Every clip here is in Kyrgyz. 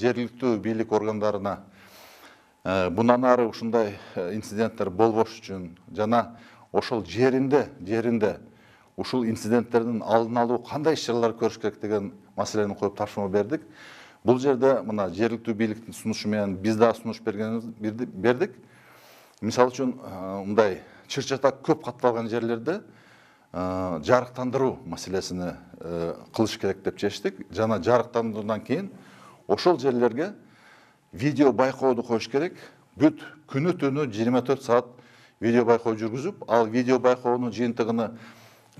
жергиликтүү бийлик органдарына bundan ары ушундай инциденттер болбош үчүн жана ошол жеринде ушул инциденттердин алдын алуу кандай иш-чаралар көрүш керек деген маселени коюп тапшырма бердик. Бул жерде мына жергиликтүү бийликтин сунушу менен биз дагы сунуш бердик. Мисалы үчүн мындай чыр-чатак көп катталган жерлерде жарыктандыруу маселесини кылыш керек деп чечтик. Жана жарыктандыруудан кийин ошол жерлерге видео байкооду коюш керек. Бүт күнү түнү 24 саат видео байкоо жүргүзүп, ал видео байкоонун жыйынтыгын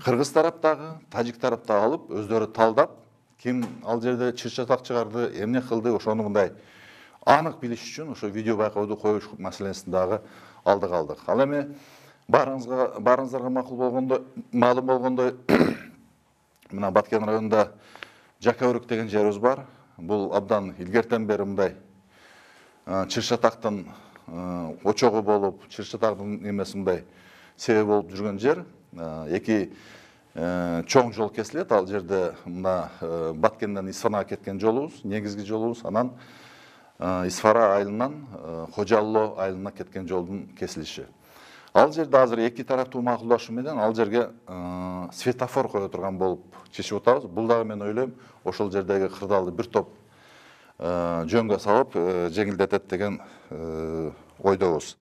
кыргыз тараптагы, тажик тараптагы алып, өздөрү талдап, ким ал жерде чыр-чатак чыгарды, эмне кылды, ошону мындай анык билиш үчүн ошо видео байкооду коюш маселесин дагы алдыга алдык. Ал эми баарыңыздарга маалым болгондой, мына Баткен районунда Жакаөрүк деген жерибиз бар. Бул абдан илгертен бери мындай чыр-чатактын очогу болуп, чыр-чатактын эмеси мындай себеп болуп жүргөн жер. Эки чоң жол кесилет. Ал жерде мына Баткенден Исфарага кеткен жолубуз, негизги жолубуз, анан Исфара айылынан Кожалло айылына кеткен жолдун кесилиши. Ал жерде азыр эки тараптуу макулдашуу менен ал жерге светофор кое турган болуп чечип атабыз. Бул дагы мен ойлойм, ошол жердеги кырдаалды бир топ жөнгө салып жеңилдетет деген ойдобуз.